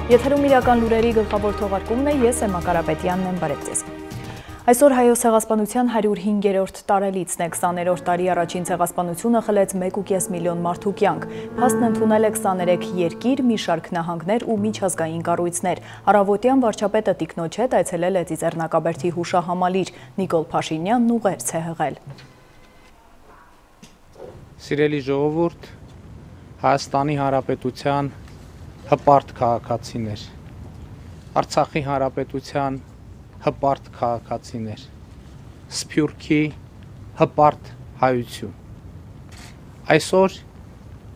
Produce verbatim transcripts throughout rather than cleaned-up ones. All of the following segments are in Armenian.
Եթերում իրական լուրերի գլխավոր թողարկումն է, ես եմ Կարապետյանն եմ, բարև ձեզ։ Այսօր Հայոց ցեղասպանության հարյուր հինգերորդ տարելիցն է, քսաներորդ տարի առաջին ցեղասպանությունը խլեց մեկ ու կես միլիոն մարդու կյանք։ Փաստն ընդունել է քսաներեք երկիր, մի շարք նահանգներ ու միջազգային կառույցներ։ Առավոտյան վարչապետը տիկնոջ հետ այցելել է Ծիծեռնակաբերդի հուշահամալիր, Նիկոլ Փաշինյանն ուղերձ է հղել։ Սիրելի ժողովուրդ, Հայաստանի Հանրապետության հպարտ քաղաքացիներ, Արցախի Հանրապետության հպարտ քաղաքացիներ, Սփյուռքի հպարտ հայություն։ Այսօր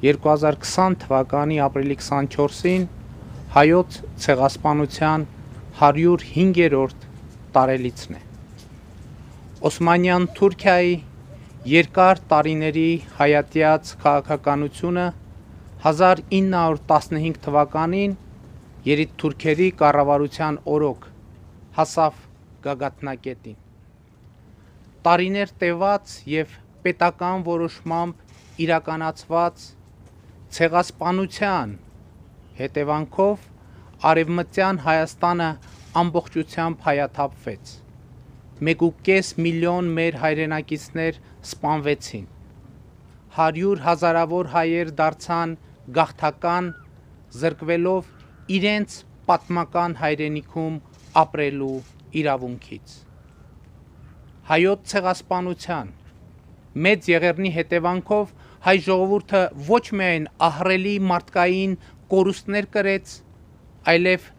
երկու հազար քսան թվականի ապրիլի քսանչորսին հայոց ցեղասպանության հարյուր հինգերորդ տարելիցն է։ Օսմանյան Թուրքիայի երկար տարիների հայատյաց քաղաքականությունը հազար ինը հարյուր տասնհինգ թվականին երիտթուրքերի կառավարության օրոք հասավ գագաթնակետին։ Տարիներ տևած և պետական որոշմամբ իրականացված ցեղասպանության հետևանքով Արևմտյան Հայաստանը ամբողջությամբ հայաթափվեց։ Մեկ ու կես միլիոն մեր հայրենակիցներ սպանվեցին։ Հարյուր հազարավոր հայեր դարձան գաղթական, զրկվելով իրենց պատմական հայրենիքում ապրելու իրավունքից։ Հայոց ցեղասպանության մեծ եղեռնի հետևանքով հայ ժողովուրդը ոչ միայն ահռելի մարդկային կորուստներ կրեց, այլև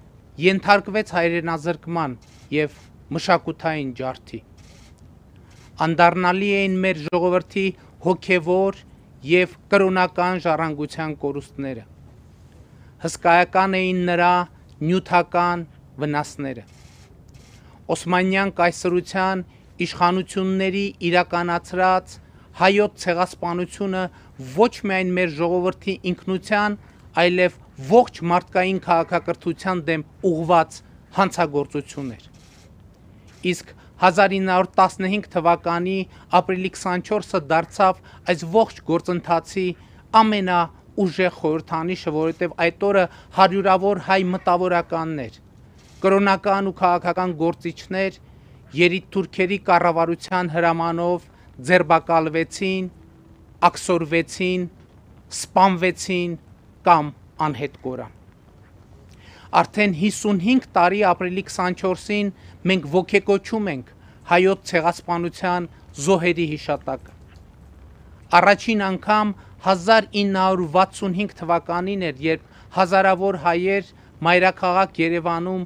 ենթարկվեց հայրենազրկման և մշակութային ջարդի։ Անդառնալի էին մեր ժողովրդի հոգևոր և կրոնական ժառանգության կորուստները։ Հսկայական էին նրա նյութական վնասները։ Օսմանյան կայսրության իշխանությունների իրականացրած հայոց ցեղասպանությունը ոչ միայն մեր ժողովրդի ինքնության, այլև ողջ մարդկային քաղաքակրթության դեմ ուղղված հանցագործություն էր։ Իսկ հազար ինը հարյուր տասնհինգ թվականի ապրիլի քսանչորսը դարձավ այս ողջ գործընթացի ամենաուժեղ խորհրդանիշը, որովհետև այդ օրը հարյուրավոր հայ մտավորականներ, կրոնական ու քաղաքական գործիչներ երիտթուրքերի կառավարության հրամանով ձերբակալվեցին, աքսորվեցին, սպանվեցին կամ անհետ կորան։ Արդեն հիսունհինգ տարի ապրիլի քսանչորսին մենք ոգեկոչում ենք հայոց ցեղասպանության զոհերի հիշատակը։ Առաջին անգամ հազար ինը հարյուր վաթսունհինգ թվականին էր, երբ հազարավոր հայեր մայրաքաղաք Երևանում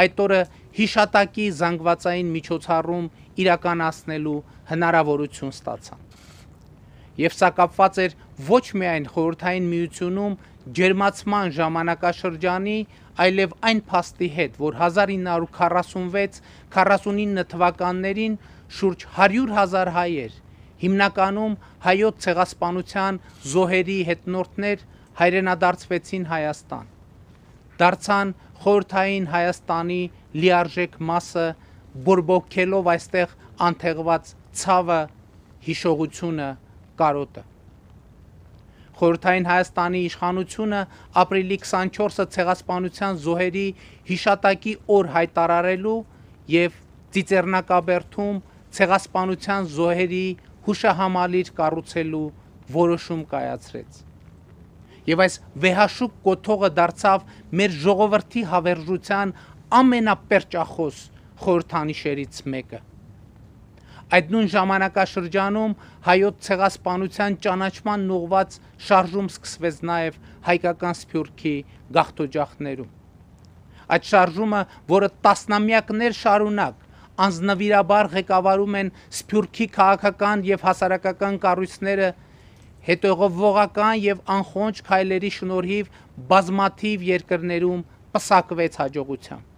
այդ օրը հիշատակի զանգվածային միջոցառում իրականացնելու հնարավորություն ստացան։ Եվ սա կապված էր ոչ միայն Խորհրդային Միությունում ջերմացման ժամանակաշրջանի, այլև այն փաստի հետ, որ հազար ինը հարյուր քառասունվեց քառասունինը թվականներին շուրջ հարյուր հազար հայեր, հիմնականում հայոց ցեղասպանության զոհերի հետնորդներ, հայրենադարձվեցին Հայաստան, դարձան Խորհրդային Հայաստանի լիարժեք մասը, բորբոքելով այստեղ անթեղված ցավը, հիշողությունը, կարոտը։ Խորհրդային Հայաստանի իշխանությունը ապրիլի քսանչորսը ցեղասպանության զոհերի հիշատակի օր հայտարարելու և Ծիծեռնակաբերդում ցեղասպանության զոհերի հուշահամալիր կառուցելու որոշում կայացրեց։ Եվ այս վեհաշուկ կոթողը դարձավ մեր ժողովրդի հավերժության ամենապերճախոս խորհրդանիշերից մեկը։ Այդ նույն ժամանակաշրջանում հայոց ցեղասպանության ճանաչման ուղղված շարժում սկսվեց նաև հայկական Սփյուռքի գաղթօջախներում։ Այդ շարժումը, որը տասնամյակներ շարունակ անձնվիրաբար ղեկավարում են Սփյուռքի քաղաքական և հասարակական կառույցները, հետևողական և անխոնջ քայլերի շնորհիվ բազմաթիվ երկրներում պսակվեց հաջողությամբ։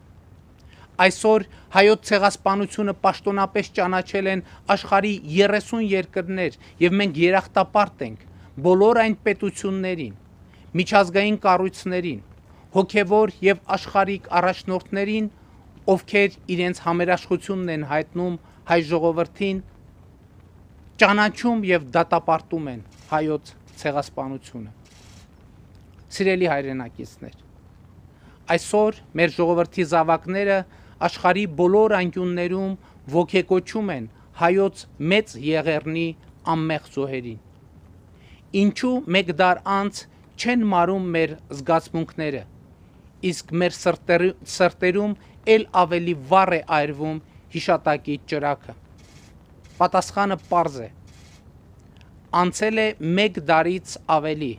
Այսօր հայոց ցեղասպանությունը պաշտոնապես ճանաչել են աշխարհի երեսուն երկրներ, և մենք երախտապարտ ենք բոլոր այն պետություններին, միջազգային կառույցներին, հոգևոր և աշխարհիկ առաջնորդներին, ովքեր իրենց համերաշխությունն են հայտնում հայ ժողովրդին, ճանաչում և դատապարտում են հայոց ցեղասպանությունը։ Սիրելի հայրենակիցներ, Այսօր մեր ժողովրդի զավակները աշխարհի բոլոր անկյուններում ոգեկոչում են հայոց մեծ եղեռնի անմեղ զոհերին։ Ինչու մեկ դար անց չեն մարում մեր զգացմունքները, իսկ մեր սրտերում էլ ավելի վառ է այրվում հիշատակի ճրագը։ Պատասխանը պարզ է։ Անցել է մեկ դարից ավելի,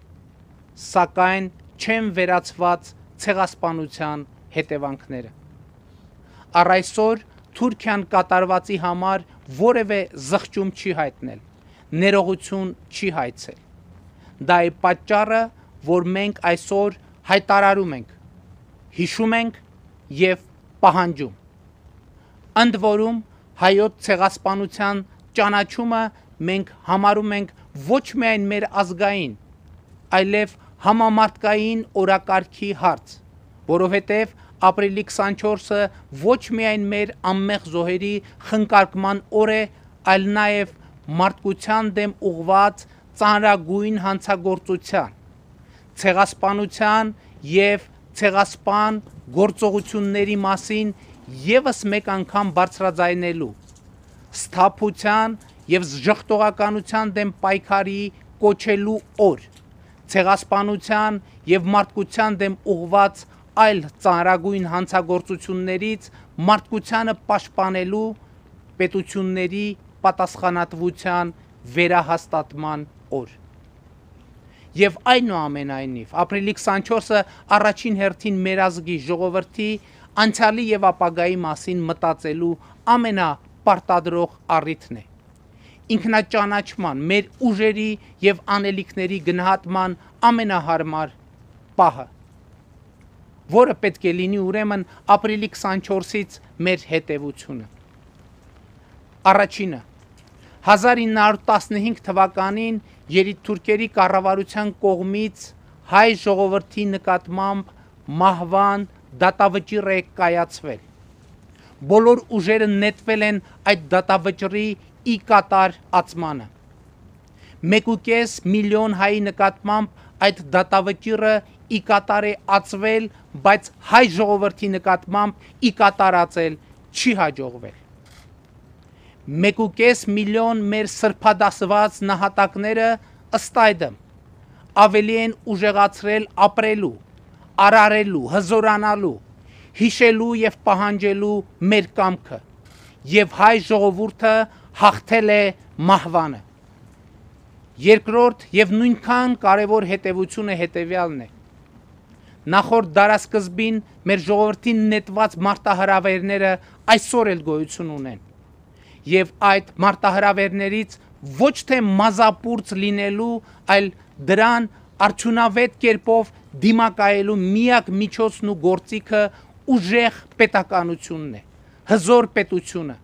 սակայն չեն վերացված ցեղասպանության հետևանքները։ Առ այսօր Թուրքիան կատարվածի համար որևէ զղջում չի հայտնել, ներողություն չի հայցել։ Դա է պատճառը, որ մենք այսօր հայտարարում ենք, հիշում ենք եւ պահանջում։ Ընդ որում հայոց ցեղասպանության ճանաչումը մենք համարում ենք ոչ միայն մեր ազգային, այլև համամարտկային օրակարգի հարց, որովհետև ապրիլի քսանչորսը ոչ միայն մեր անմեղ զոհերի խնկարկման օր է, այլ նաև մարդկության դեմ ուղղված ծանրագույն հանցագործության, ցեղասպանության եւ ցեղասպան գործողությունների մասին եւս մեկ անգամ բարձրաձայնելու, սթափության եւ ժխտողականության դեմ պայքարի կոչելու օր, ցեղասպանության եւ մարդկության դեմ ուղղված այլ ծանրագույն հանցագործություններից մարդկությանը պաշտպանելու պետությունների պատասխանատվության վերահաստատման օր։ Եվ այնուամենայնիվ ապրիլի քսանչորսը առաջին հերթին մեր ազգի ժողովրդի անցյալի եւ ապագայի մասին մտածելու ամենապարտադրող առիթն է։ Ինքնաճանաչման, մեր ուժերի եւ անելիքների գնահատման ամենահարմար պահը, որը պետք է լինի ուրեմն ապրիլի քսանչորսից մեր հետևությունը։ Առաջինը, հազար ինը հարյուր տասնհինգ թվականին երիտթուրքերի կառավարության կողմից հայ ժողովրդի նկատմամբ մահվան դատավճիռ է կայացվել։ Բոլոր ուժերը նետվել են այդ դատավճռի ի կատար ածմանը։ Մեկուկես միլիոն հայի նկատմամբ այդ դատավճիռը ի կատար է ածվել, բայց հայ ժողովրդի նկատմամբ ի կատարածել չի հաջողվել։ Մեկուկես միլիոն մեր սրբադասված նահատակները ըստ այդմ ավելի են ուժեղացրել ապրելու, արարելու, հզորանալու, հիշելու եւ պահանջելու մեր կամքը, եւ հայ ժողովուրդը հաղթել է մահվանը։ Երկրորդ եւ նույնքան կարևոր հետևությունը հետեւյալն է։ Նախորդ դարասկզբին մեր ժողովրդին նետված մարտահրավերները այսօր էլ գոյություն ունեն։ Եվ այդ մարտահրավերներից ոչ թե մազապուրծ լինելու, այլ դրան արդյունավետ կերպով դիմակայելու միակ միջոցն ու գործիքը ուժեղ պետականությունն է, հզոր պետությունը,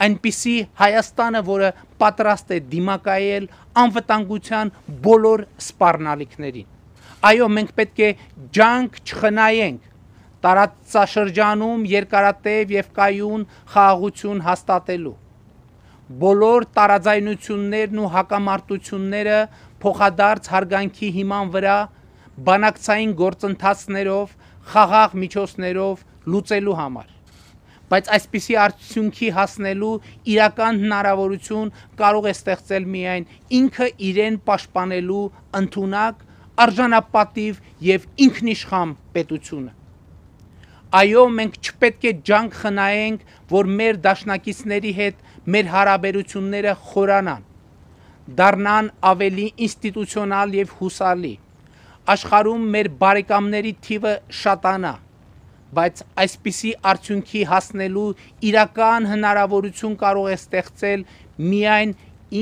այնպիսի Հայաստանը, որը պատրաստ է դիմակայել անվտանգության բոլոր սպառնալիքներին։ Այո, մենք պետք է ջանք չխնայենք տարածաշրջանում երկարատև եւ կայուն խաղաղություն հաստատելու։ Բոլոր տարաձայնություններն ու հակամարտությունները փոխադարձ հարգանքի հիման վրա բանակցային գործընթացներով, խաղաղ միջոցներով լուծելու համար։ Բայց այսպիսի արդյունքի հասնելու իրական հնարավորություն կարող է ստեղծել միայն ինքը իրեն պաշտպանելու ընդունակ, արժանապատիվ եւ ինքնիշխան պետությունը։ Այո, մենք չպետք է ջանք խնայենք, որ մեր դաշնակիցների հետ մեր հարաբերությունները խորանան, դառնան ավելի ինստիտուցիոնալ եւ հուսալի, աշխարհում մեր բարեկամների թիվը շատանա, բայց այսպիսի արդյունքի հասնելու իրական հնարավորություն կարող է ստեղծել միայն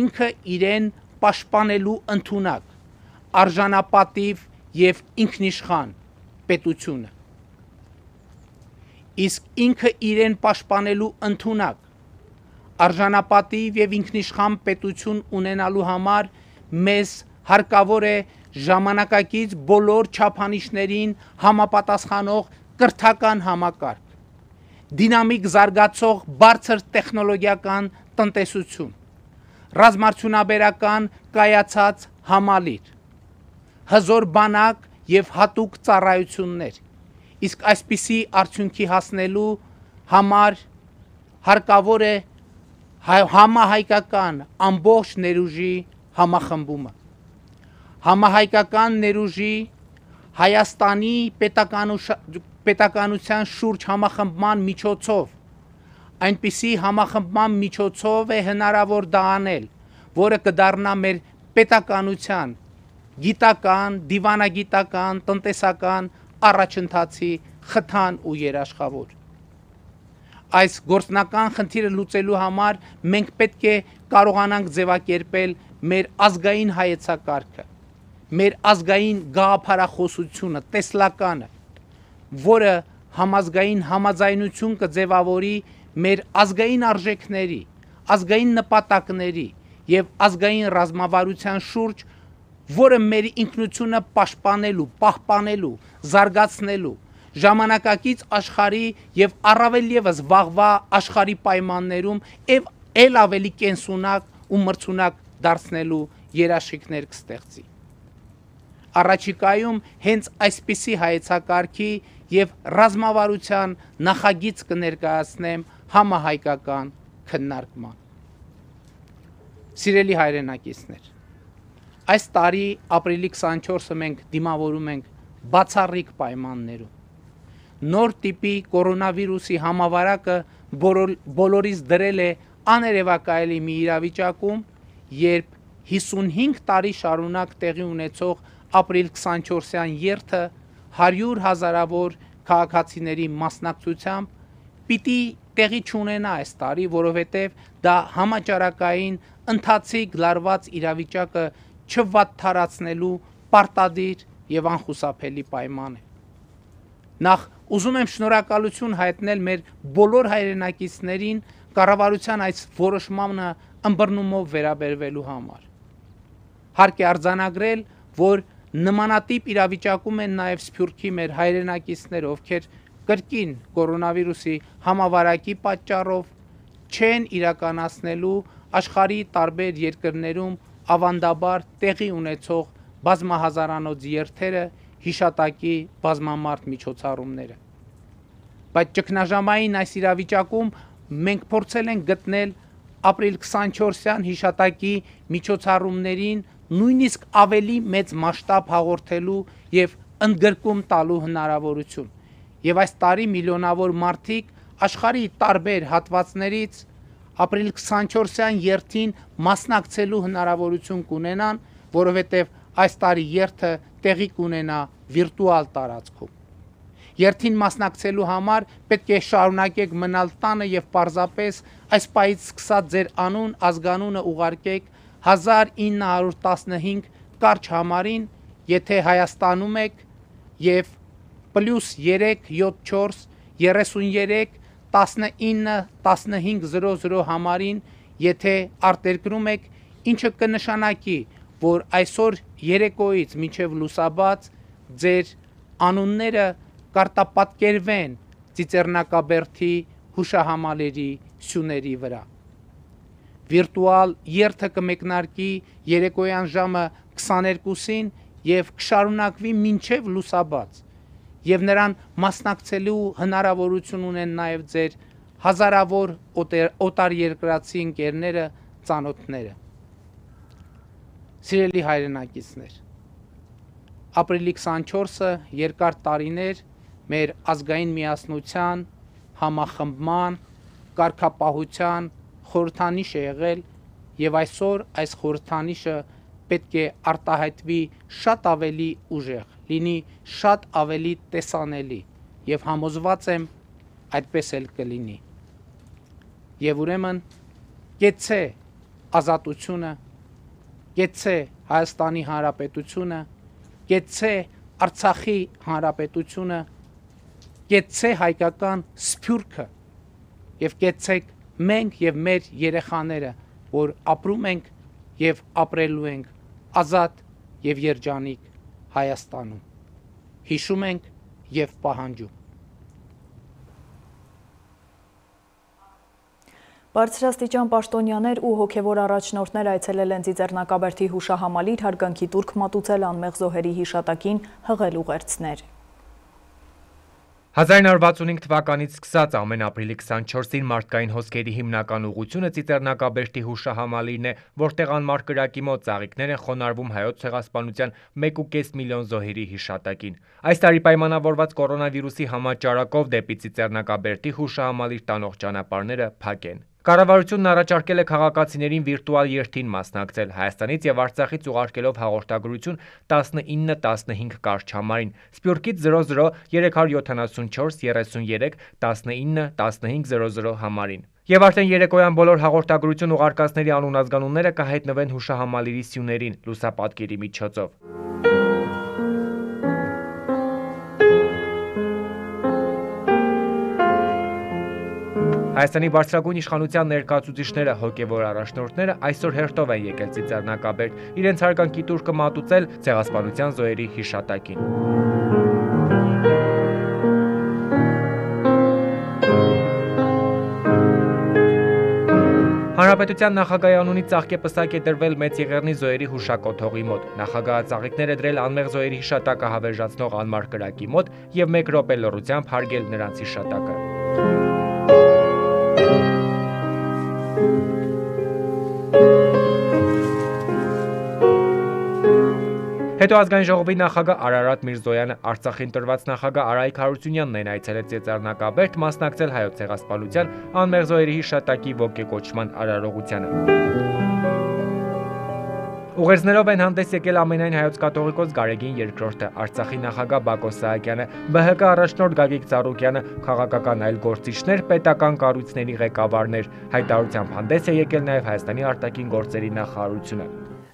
ինքը իրեն պաշտպանելու ընդունակ, արժանապատիվ եւ ինքնիշխան պետությունը։ Իսկ ինքը իրեն պաշտպանելու ընդունակ, արժանապատիվ եւ ինքնիշխան պետություն ունենալու համար մեզ հարկավոր է ժամանակակից բոլոր չափանիշներին համապատասխանող կրթական համակարգ, դինամիկ զարգացող բարձր տեխնոլոգիական տնտեսություն, ռազմարդյունաբերական կայացած համալիր, հզոր բանակ եւ հատուկ ծառայություններ, իսկ այսպիսի արդյունքի հասնելու համար հարկավոր է համահայկական ամբողջ ներուժի համախմբումը, համահայկական ներուժի Հայաստանի պետականության շուրջ համախմբման միջոցով, այնպիսի համախմբման միջոցով է հնարավոր դա անել, որը կդառնա մեր պետականության գիտական, դիվանագիտական, տնտեսական առաջընթացի խթան ու երաշխավոր։ Այս գործնական խնդիրը լուծելու համար մենք պետք է կարողանանք ձևակերպել մեր ազգային հայեցակարգը, մեր ազգային գաղափարախոսությունը, տեսլականը, որը համազգային համաձայնություն կձևավորի մեր ազգային արժեքների, ազգային նպատակների եւ ազգային ռազմավարության շուրջ, որը մեր ինքնությունը պաշտպանելու, պահպանելու, զարգացնելու, ժամանակակից աշխարհի եւ առավել եւս վաղվա աշխարհի պայմաններում եւ ել ավելի կենսունակ ու մրցունակ դարձնելու երաշխիքներ կստեղծի։ Առաջիկայում հենց այսպիսի հայեցակարգի եւ ռազմավարության նախագիծ կներկայացնեմ համահայկական քննարկման։ Սիրելի հայրենակիցներ, այս տարի ապրիլի քսանչորսը մենք դիմավորում ենք բացառիկ պայմաններում։ Նոր տիպի կորոնավիրուսի համավարակը բոլորիս դրել է աներևակայելի մի իրավիճակում, երբ հիսունհինգ տարի շարունակ տեղի ունեցող ապրիլ քսանչորսյան երթը հարյուր հազարավոր քաղաքացիների մասնակցությամբ պիտի տեղի չունենա այս տարի, որովհետև դա համաճարակային ընթացիկ լարված իրավիճակը չվատթարացնելու պարտադիր եւ անխուսափելի պայման է։ Նախ ուզում եմ շնորհակալություն հայտնել մեր բոլոր հայրենակիցներին կառավարության այս որոշմանը ըմբռնումով վերաբերվելու համար։ Հարկ է արձանագրել, որ նմանատիպ իրավիճակում են նաև Սփյուռքի մեր հայրենակիցներ, ովքեր կրկին կորոնավիրուսի համավարակի պատճառով չեն իրականացնելու աշխարհի տարբեր երկրներում ավանդաբար տեղի ունեցող բազմահազարանոց երթերը, հիշատակի բազմամարդ միջոցառումները։ Բայց ճգնաժամային այս իրավիճակում մենք փորձել ենք գտնել ապրիլ քսանչորսյան հիշատակի միջոցառումներին նույնիսկ ավելի մեծ մասշտաբ հաղորդելու եւ ընդգրկում տալու հնարավորություն։ Եվ այս տարի միլիոնավոր մարդիկ աշխարհի տարբեր հատվածներից ապրիլ քսանչորսյան երթին մասնակցելու հնարավորություն կունենան, որովհետև այս տարի երթը տեղի կունենա վիրտուալ տարածքում։ Երթին մասնակցելու համար պետք է շարունակեք մնալ տանը եւ պարզապես այս պահից սկսած ձեր անուն, ազգանունը ուղարկեք հազար ինը հարյուր տասնհինգ կարճ համարին, եթե Հայաստանում եք, եւ պլյուս երեք յոթ չորս երեսունյերեք տասնինը տասնհինգ զրո զրո համարին, եթե արտերկրում եք, ինչը կնշանակի, որ այսօր երեկոյից մինչև լուսաբաց ձեր անունները կարտապատկերվեն Ծիծեռնակաբերդի հուշահամալիրի սյուների վրա։ Վիրտուալ երթը կմեկնարկի երեկոյան ժամը քսաներկուսին եւ կշարունակվի մինչև լուսաբաց, եւ նրան մասնակցելու հնարավորություն ունեն նաեւ ձեր հազարավոր օտարերկրացի ընկերները, ծանոթները։ Սիրելի հայրենակիցներ, ապրիլի քսանչորսը երկար տարիներ մեր ազգային միասնության, համախմբման, կարգապահության խորհրդանիշ է եղել եւ այսօր այս խորհրդանիշը պետք է արտահայտվի շատ ավելի ուժեղ, լինի շատ ավելի տեսանելի եւ համոզված եմ այդպես էլ կլինի։ Եվ ուրեմն կեցցե ազատությունը, կեցցե Հայաստանի Հանրապետությունը, կեցցե Արցախի Հանրապետությունը, կեցցե հայկական Սփյուռքը եւ կեցցեք մենք եւ մեր երեխաները, որ ապրում ենք եւ ապրելու ենք ազատ եւ երջանիկ Հայաստանում։ Հիշում ենք եւ պահանջում։ Բարձրաստիճան պաշտոնյաներ ու հոգևոր առաջնորդներ այցելել են Ծիծեռնակաբերդի հուշահամալիր, հարգանքի տուրք մատուցել անմեղ զոհերի հիշատակին, հղել ուղերձներ։ հազար նոր վաթսունհինգ թվականից սկսած ամեն ապրիլի քսանչորսին մարդկային հոսքերի հիմնական ուղղությունը Ծիծեռնակաբերդի հուշահամալիրն է, որտեղ անմար կրակի մոտ ծաղիկներ են խոնարհվում հայոց ցեղասպանության մեկ ու կես միլիոն զոհերի հիշատակին։ Այս տարի պայմանավորված կորոնավիրուսի համաճարակով դեպի Ծիծեռնակաբերդի հուշահամալիր տանող ճանապարհները փակ են։ Կառավարությունն առաջարկել է քաղաքացիներին վիրտուալ երթին մասնակցել Հայաստանից եւ Արցախից ուղարկելով հաղորդագրություն տասնինը տասնհինգ կարճ համարին, Սփյուռքից զրո զրո երեք հարյուր յոթանասունչորս տասնյոթ տասնինը տասնհինգ զրո զրո համարին։ Եվ արդեն երեկոյան բոլոր հաղորդագրություն ուղարկածների անուն ազգանունները կհայտնվեն հուշահամալիրի սյուներին լուսապատկերի միջոցով։ Հայաստանի բարձրագույն իշխանության ներկայացուցիչները, հոգևոր առաջնորդները այսօր հերթով են եկել Ծիծեռնակաբերդ իրենց հարգանքի տուրքը մատուցել ցեղասպանության զոհերի հիշատակին։ Հանրապետության նախագահի անունից ծաղկեպսակ է դրվել Մեծ Եղեռնի զոհերի հուշակոթողի մոտ։ Նախագահը ծաղիկներ է դրել անմեղ զոհերի հիշատակը հավերժացնող անմար կրակի մոտ եւ մեկ րոպե լռությամբ հարգել նրանց հիշատակը։ Հետո ազգային ժողովի նախագահ Արարատ Միրզոյանը, Արցախին տրված նախագահ Արայիկ Հարությունյանն են այցելել Ծիծեռնակաբերդ մասնակցել հայոց ցեղասպանության անմեղ զոհերի հիշատակի ոգեկոչման արարողությանը։ Ուղերձներով են հանդես եկել ամենայն հայոց կաթողիկոս Գարեգին երկրորդը, Արցախի նախագահ Բակո Սահակյանը, Բ Հ Կ առաջնորդ Գագիկ Ծառուկյանը, քաղաքական այլ գործիչներ, պետական կառույցների ղեկավարներ։ Հայտարարությամբ հանդես է եկել նաև Հայաստանի արտաքին գործերի նախարարությունը։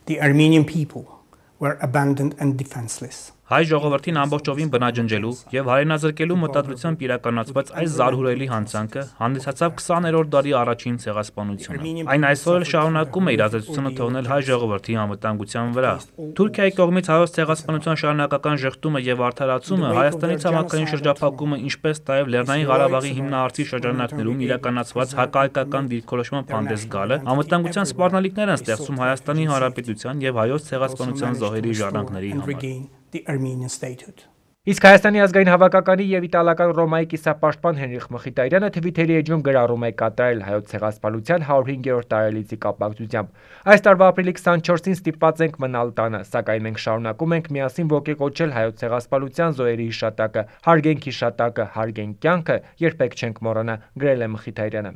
The Armenian people were abandoned and defenseless. Հայ ժողովրդին ամբողջովին բնաջնջելու եւ հայրենազրկելու մտադրությամբ իրականացված այս զարհուրելի հանցանքը հանդիսացավ քսաներորդ դարի առաջին ցեղասպանությունը։ Այն այսօր էլ շարունակում է իր ազդեցությունը թողնել հայ ժողովրդի անվտանգության վրա։ Թուրքիայի կողմից հայոց ցեղասպանության շարունակական ժխտումը եւ արդարացումը, Հայաստանի ցամաքային շրջափակումը, ինչպես նաեւ Լեռնային Ղարաբաղի հիմնահարցի շրջանակներում իրականացված հակահայկական դիրքորոշման հանդես գալը անվտանգության սպառնալիքներ են ստեղծում Հայաստանի Հանրապետության եւ հայոց ցեղասպանության զոհերի ժառանգների համար։ The Armenian statehood. Իսկ Հայաստանի ազգային հավաքականի եւ իտալական Ռոմայի կիսապաշտպան Հենրիխ Մխիթարյանը Թվիթերի էջում գրառում է կատարել հայոց ցեղասպանության հարյուր հինգերորդ տարելիցի կապակցությամբ։ Այս տարվա ապրիլի քսանչորսին ստիպված ենք մնալ տանը, սակայն մենք շարունակում ենք միասին ոգեկոչել հայոց ցեղասպանության զոհերի հիշատակը, հարգենք հիշատակը, հարգենք կյանքը, երբեք չենք մոռանա, գրել է Մխիթարյանը։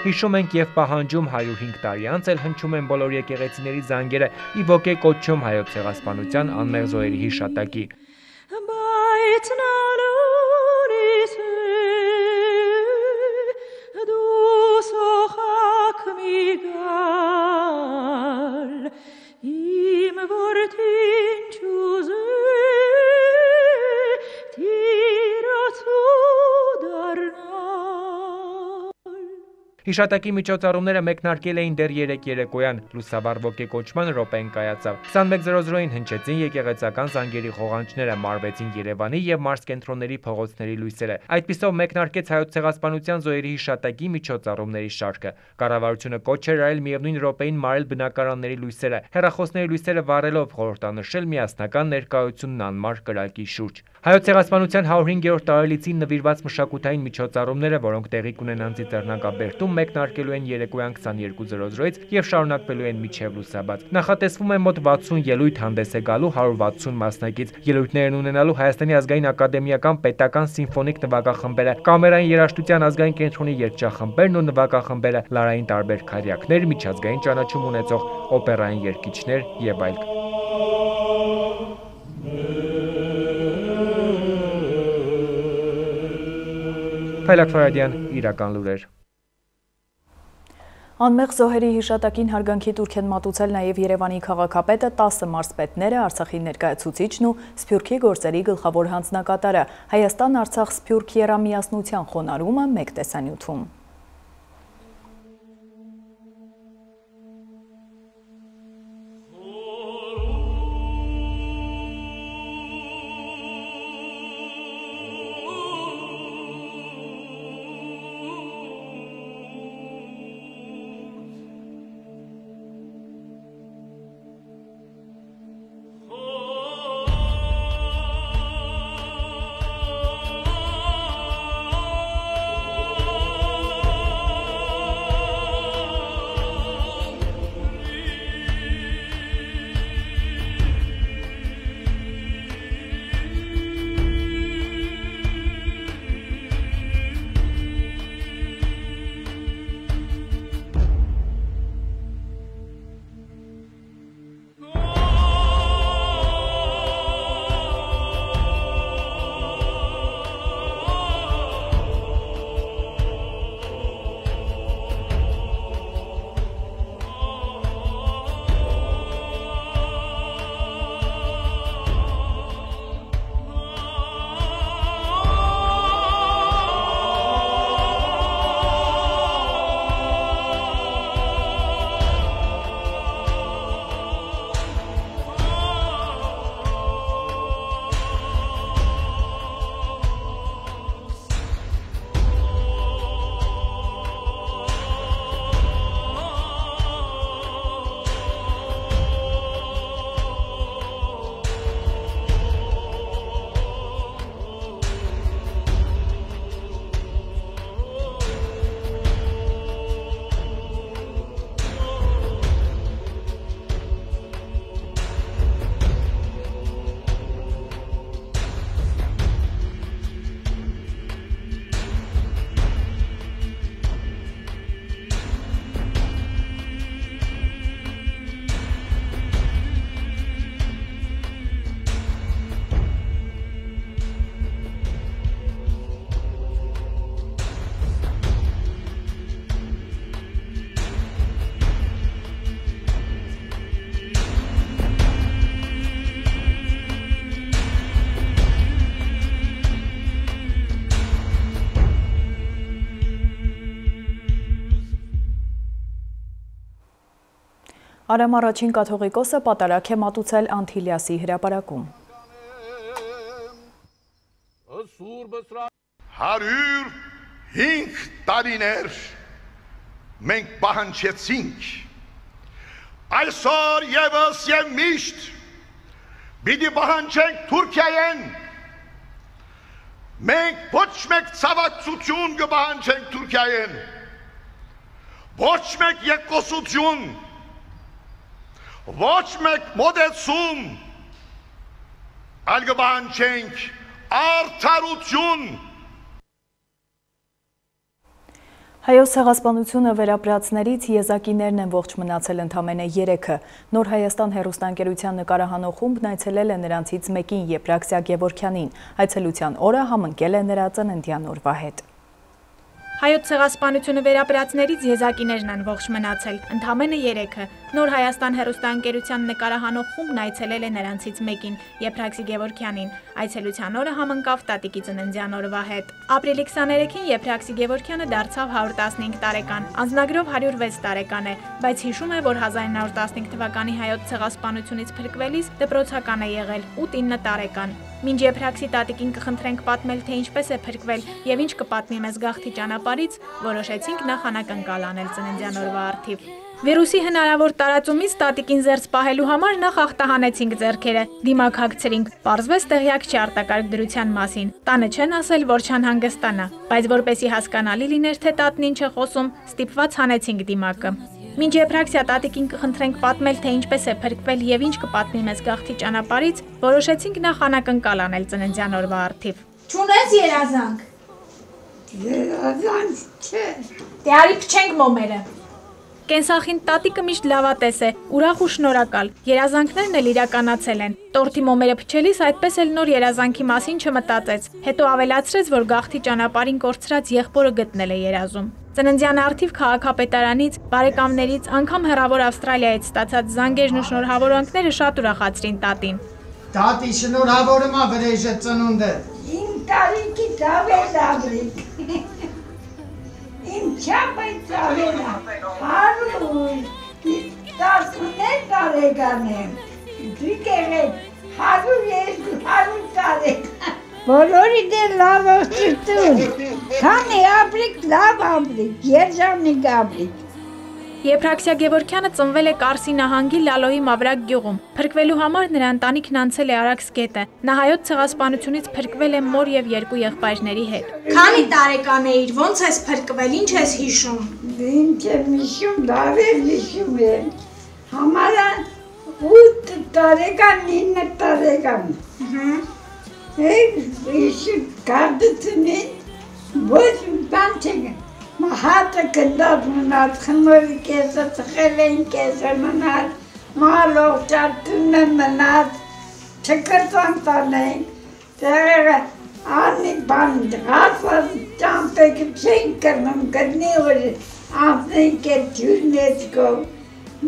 Հիշում ենք եւ պահանջում հարյուր հինգ տարի անց էլ հնչում են բոլոր եկեղեցիների զանգերը ի ոգեկոչում հայոց ցեղասպանության անմեղ զոհերի հիշատակի։ Հիշատակի միջոցառումները մեկնարկել էին դեռ երեկ երեկոյան, լուսաբար ոգեկոչման րոպեն կայացավ։ քսանմեկ զրո զրոին հնչեցին եկեղեցական զանգերի խողանջները, մարվեցին Երևանի եւ մարզկենտրոնների փողոցների լույսերը։ Այդպիսով մեկնարկեց հայոց ցեղասպանության զոհերի հիշատակի միջոցառումների շարքը։ Կառավարությունը կոչ էր արել միևնույն րոպեին մարել բնակարանների լույսերը, հեռախոսների լույսերը վառելով խորհրդանշել միասնական ներկայությունն անմար կրակի շուրջ։ Հայոց ցեղասպանության հարյուր հինգերորդ տարելիցին նվիրված մշակութային միջոցառումները, որոնք տեղի կունենան Ծիծեռնակաբերդում, մեկնարկելու են երեկոյան քսաներկու զրո զրոից եւ շարունակվելու են մինչեւ լուսաբաց։ Նախատեսվում է մոտ վաթսուն ելույթ հանդես է գալու հարյուր վաթսուն մասնակից։ Ելույթներն ունենալու Հայաստանի ազգային ակադեմիական պետական սիմֆոնիկ նվագախմբերը, կամերային երաժշտության ազգային կենտրոնի երգչախմբերն ու նվագախմբերը, լարային տարբեր քարյակներ, միջազգային ճանաչում ունեցող օպերային երգիչներ եւ այլն։ Փայլակ Ֆարադյան, իրական լուրեր։ Անմեղ զոհերի հիշատակին հարգանքի տուրք են մատուցել նաև Երևանի քաղաքապետը, տասը մարզպետները, Արցախի ներկայացուցիչն ու Սփյուռքի գործերի գլխավոր հանձնակատարը։ Հայաստան-Արցախ-Սփյուռք եռամիասնության խոնարհումը մեկ տեսանյութում։ Արամ առաջին կաթողիկոսը պատարակ է մատուցել Անտիլիասի հրապարակում։ հարյուր հինգ տարիներ մենք պահանջեցինք, այսօր ևս և միշտ պիտի պահանջենք Թուրքիայեն, մենք ոչ մեկ ցավակցություն կպահանջենք Թուրքիայեն, ոչ մեկ եկոսություն, ոչ մեկ մոտեցում, այլ կպահանջենք արդարություն։ Հայոց ցեղասպանությունը վերապրածներից եզակիներն են ողջ մնացել ընդամենը երեքը։ Նոր Հայաստան հեռուստաընկերության նկարահանող խումբն այցելել է նրանցից մեկին Եփրաքսիա Գևորգյանին։ Այցելության օրը համընկել է նրա ծննդյան օրվա հետ։ Հայոց ցեղասպանությունը վերապրածներից եզակիներն են ողջ մնացել, ընդամենը երեքը։ Նոր Հայաստան հեռուստաընկերության նկարահանող խումբն այցելել է նրանցից մեկին, Եփրաքսի Գևորգյանին։ Այցելության օրը համընկավ տատիկի ծննդյան օրվա հետ։ Ապրիլի քսաներեքին Եփրաքսի Գևորգյանը դարձավ հարյուր տասնհինգ տարեկան, անձնագրով հարյուր վեց տարեկան է, բայց հիշում է, որ հազար ինը հարյուր տասնհինգ թվականի հայոց ցեղասպանությունից փրկվելիս դպրոցական է եղել, ութ-ինը տարեկան։ Մինչ Եփրաքսի տատիկին կխնդրենք պատմել, թե ինչպես է փրկվել եւ ինչ կպատմի մեզ գաղթի ճանապարհից, որոշեցինք նախ անակնկալ անել ծննդյան օրվա առթիվ։ Վիրուսի հնարավոր տարածումից տատիկին զերծ պահելու համար նախ ախտահանեցինք ձեռքերը, դիմակ հագցրինք, պարզվեց տեղյակ չի արտակարգ դրության մասին, տանը չեն ասել, որ չանհանգստանա, բայց որպեսի հասկանալի լիներ, թե տատն ինչ է խոսում, ստիպված հանեցինք դիմակը։ Մինչ Եփրաքսիա տատիկին կխնդրենք պատմել, թե ինչպես է փրկվել եւ ինչ կպատմի մեզ գաղթի ճանապարհից, որոշեցինք նախ անակնկալ անել ծննդյան օրվա առթիվ։ Չունես երազանք։ Երազանք չէ։ Դե արի փչենք մոմերը։ Կենսախինդ տատիկը միշտ լավատես է, ուրախ ու շնորհակալ։ Երազանքներն էլ իրականացել են։ Տորտի մոմերը փչելիս այդպես էլ նոր երազանքի մասին չմտածեց։ Հետո ավելացրեց, որ գաղթի ճանապարհին կորցրած եղբորը գտնել է երազում։ Ծննդյան առթիվ քաղաքապետարանից, բարեկամներից, անգամ հեռավոր Ավստրալիայից ստացած զանգերն ու շնորհավորանքները շատ ուրախացրին տատին։ Տատի շնորհավորում ա վրեժը ծնունդը։ Իմ տարիքի ծավեր աբրիկ։ Իմ չապայց ծավեր հարուր, տասնուներ տարեկան եմ, դուք եղեք հարուր երկու, հարուր տարեկան։ Բոլորի դեր լավ ողջություն, քանի աբրիկ, լավ աբրիկ, երջանիկ աբրիկ։ Եփրաքսիա Գևորգյանը ծնվել է Կարսի նահանգի Լալոյի Մավրակ գյուղում։ Փրկվելու համար նրա ընտանիքն անցել է Արաքս գետը։ Նա հայոց ցեղասպանությունից փրկվել է մոր եւ երկու եղբայրների հետ։ Քանի տարեկան էիր, ո՞նց ես փրկվել, ինչ ես հիշում։ Ինչ եմ հիշում, լավ եմ հիշում եմ։ Համարը ութ տարեկան, ինը տարեկան։ Եկ հիշում կարդությունին, ոչ բան չենք։ Մահատը կնդատ մնաց, խնորի կեսը ծխել են կեսը մնաց, մալող ճարտունը մնաց, չկրծան տանենք, տեղերը անի բան հացած ճամպեքը չեն կրնում, կրնի որ անցնենք է ջուրնեց գով,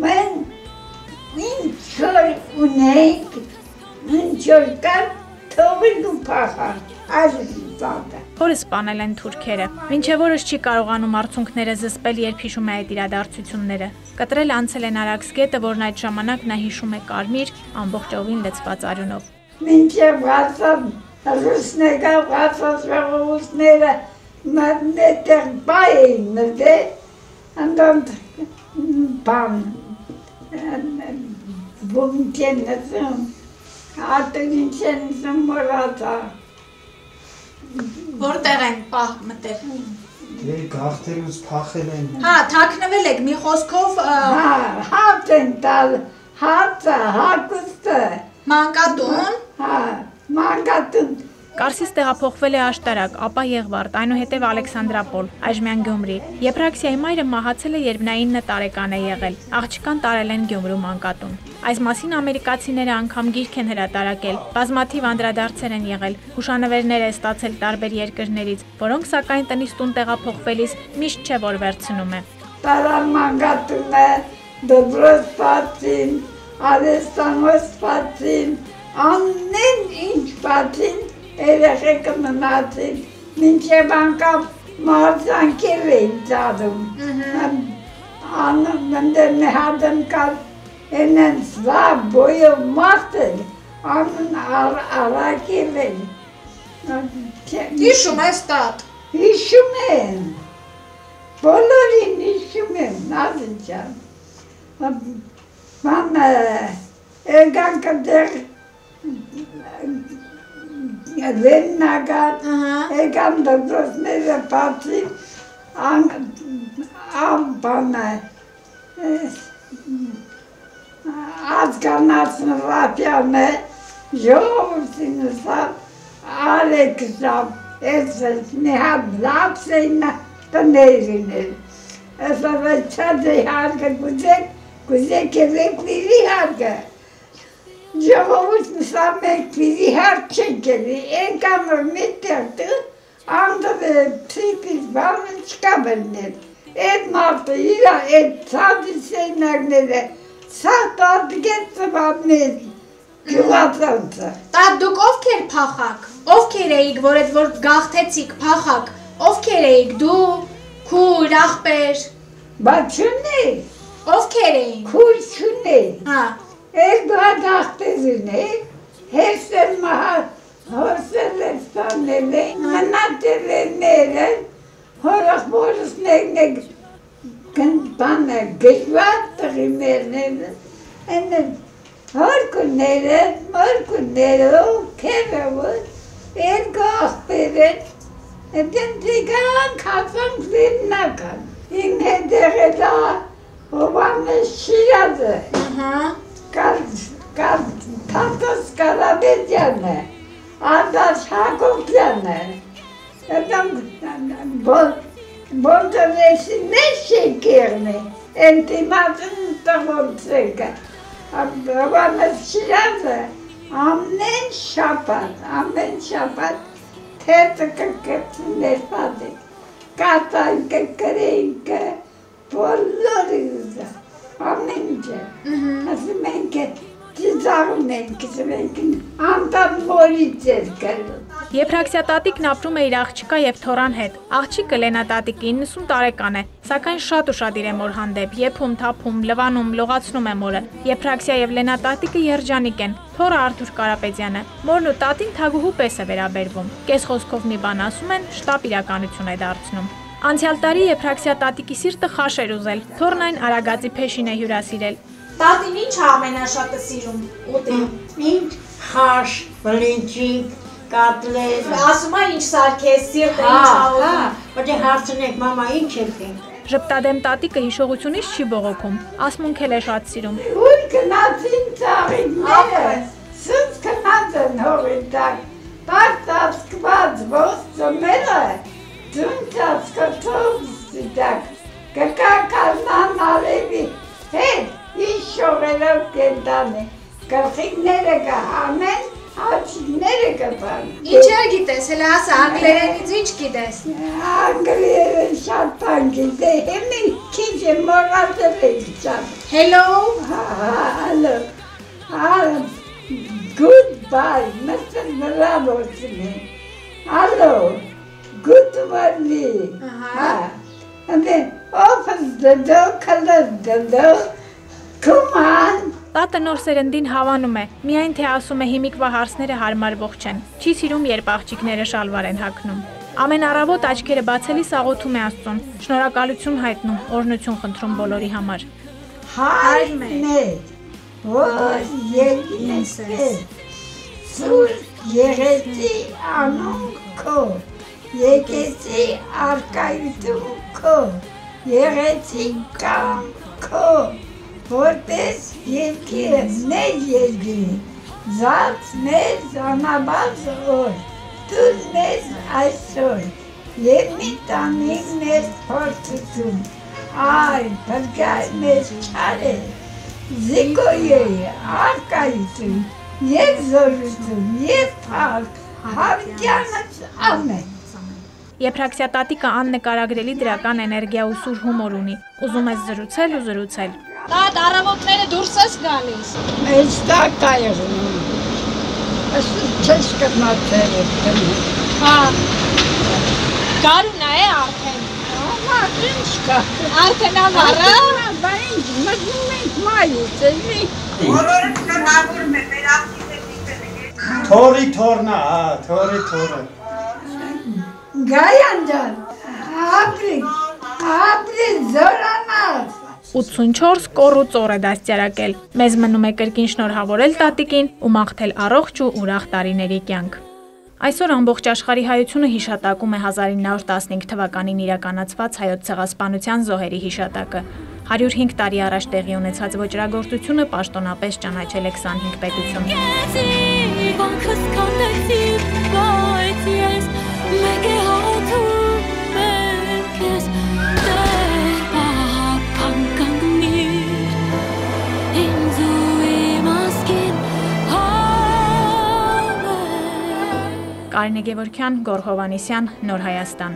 մեն ինչ որ ունենք, ինչ որ կար, թողին ու պախան, այժմ ծատը։ Հորս սպանել են թուրքերը, մինչև օրս չի կարողանում արցունքները զսպել, երբ հիշում է այդ իրադարձությունները։ Կտրել անցել են Արաքս գետը, որն այդ ժամանակ նա հիշում է կարմիր, ամբողջովին լցված արյունով։ Մինչև հացավ ռուսնեկա հացած ժողովուրդները մետեղ բայ էին մտել, անտանդ բան բունկեն նծում, ատունին չեն նծում մորացա։ Որտեղ են պահ մտել։ Դե գաղթելուց փախել են։ Հա, թաքնվել եք մի խոսքով Հա, հաց են տալ, հացը, հագուստը։ մանկատուն։ Հա, մանկատուն։ Կարսից տեղափոխվել է Աշտարակ, ապա Եղվարդ, այնուհետև Ալեքսանդրապոլ, այժմյան Գյումրի։ Եփրաքսիայի մայրը մահացել է, երբ նա ինը տարեկան է եղել։ Աղջկան տարել են Գյումրու մանկատուն։ Այս մասին ամերիկացիները անգամ գիրք են հրատարակել, բազմաթիվ անդրադարձեր են եղել, հուշանվերներ է ստացել տարբեր երկրներից, որոնք սակայն տնից տուն տեղափոխվելիս միշտ չէ որ վերցնում է։ Տարան մանկատունը, դպրոց պատին, արեստանոց պատին, ամեն ինչ պատին, երեխեքը մնացին, մինչև անգամ մարզանքեր էին ծադում։ Անում ընդեր մի հատն կար Enen slav boyu martel. Anın arakil el. Հիշում ես տատ։ Հիշում եմ, բոլորին հիշում եմ, Նազին ջան։ Ման եկանք դեղ Լեննագան, եկան դոկտորները բացին, անբանը ազգանացն ռապյանը, ժողովրդին սավ, Ալեքսավ, ես մի հատ լապս էին տներին էլ, ես ավեցած է հարգը գուզեք, գուզեք է վեկվիրի հարգը, ժողովուրդ նսավ մեկ վիրի հարկ չենք էլի, ենքան որ մի տեղտը, անդով է պսիկիս բանն չկա բրնել, էդ մարդը իրա, էդ ծադի սեյնագները, սա տատգետ ծվաբնեց, գյուղացանցը։ Տատ դուք ովքեր փախակ, ովքեր էիք, որ էդ որ գաղթեցիք փախակ, ովքեր էիք դու, քույր, աղբեր։ Բա չունի։ Ովքեր էին։ Քույր չունի։ Հա։ Էլ բադ աղբերին է, հեսել մահա, հոսել է ստանել է, մնատել է ները, հորախ մորս նեգնեգ բանը գժվատ տղի մերները, Հորկունները, մորկունները, կերևը, երկու աղբերեն, դեն դիգան կացան լիննական, իմ հետեղ է դա հովանը շիրազը, կարտոս կարաբեդյանը, ադաս հակոպյանը, բոլտորեսի նեշ շեկերն է, ենտիմատն տղորցեկը, Հովանս շիրազը ամեն շապատ, ամեն շապատ թետը կկրծուներ պատիկ, կատանքը, կրենքը, բոլորի ուզա, ամեն ջը, ասում ենք է ծիծաղում ենք, ասում ենք անտան մորից էր կրում։ Եփրաքսիա տատիկն ապրում է իր աղջիկա եւ թորան հետ։ Աղջիկը Լենա տատիկը իննսուն տարեկան է, սակայն շատ ուշադիր է մոր հանդեպ, եփում, թափում, լվանում, լողացնում է մորը։ Եփրաքսիա եւ Լենա տատիկը երջանիկ են։ Թորը Արթուր Կարապետյանը։ Մորն ու տատին թագուհու պես է վերաբերվում։ Կես խոսքով մի բան ասում են, շտապ իրականություն է դարձնում։ Անցյալ տարի Եփրաքսիա տատիկի սիրտը խաշ էր ուզել։ Թորն այն Արագածի փեշին է հյուրասիրել։ Տատին ինչ է ամենաշատը սիրում ուտի։ Ինչ խաշ, բլինչիկ, կատլետ։ Ասում է ինչ սարքես, սիրտը ինչ աղում։ Բայց հարցնեք, մամա ինչ եք ենք։ Ժպտադեմ տատիկը հիշողությունից չի բողոքում, ասմունք էլ է շատ սիրում։ Ուր գնացին ծաղիկները, սուց կնած են հողի տակ, տակ ծածկված ոս ծմերը, ձուն ծածկոտով սիտակ, կկա կազնան ալևի հետ, ինչ շողելով կենտան է, կրխիկները կհանեն, Աչիկները կպան։ Ինչ է գիտես, հելա ասա, անգլերենից ինչ գիտես։ Անգլերեն շատ բան գիտե, հիմի քիչ է մոռացել եմ շատ։ Hello։ Hello։ Goodbye, Mister Bravo's. Hello. Good morning. And then opens the door, closes the door. Come on. Տատը նոր սերնդին հավանում է, միայն թե ասում է հիմիկվա հարցները հարմարվող չեն, չի սիրում երբ աղջիկները շալվար են հագնում։ Ամեն առավոտ աչքերը բացելիս աղոթում է Աստծուն, շնորհակալություն հայտնում, օրհնություն խնդրում բոլորի համար։ Հայրներ, որ եկնես սուր եղեցի անուն քո, եկեցի արկայություն քո, եղեցի կամ քո, որպես երկի մեր երկի, զած մեզ անաբաց օր, դուր մեզ այսօր, և մի տանիք մեզ փորձություն, այ բրգայ մեզ չար է, զիկոյի արկայություն, և զորություն, և փառք, հավիտյանս ամեն։ Եփրաքսիա տատիկը աննկարագրելի դրական էներգիա ու սուր հումոր ունի, ուզում ես զրուցել ու զրուցել։ Տատ առավոտները դուրս ես գալիս։ Այս տակ է եղնում, չես կրնացել եք տնի։ Հա, գարունա է արդեն։ Ամա, ինչ կա։ Արդեն ամառը։ Բա ինչ, մտնում ենք մայուց, էլի։ Բոլորը շնորհավորում եմ, մեր ակտիվիտետները։ Թորի թորնա, հա, թորի թորը։ Գայան ջան, ապրիկ, ապրիկ, զորանաց։ ութսունչորս կոռուց օր է դաստիարակել։ Մեզ մնում է կրկին շնորհավորել տատիկին ու մաղթել առողջ ու ուրախ տարիների կյանք։ Այսօր ամբողջ աշխարհի հայությունը հիշատակում է հազար ինը հարյուր տասնհինգ թվականին իրականացված հայոց ցեղասպանության զոհերի հիշատակը։ հարյուր հինգ տարի առաջ տեղի ունեցած ոճրագործությունը պաշտոնապես ճանաչել է քսանհինգ պետություն։ Կարինե Գևորգյան, Գոռ Հովհաննիսյան, Նոր Հայաստան։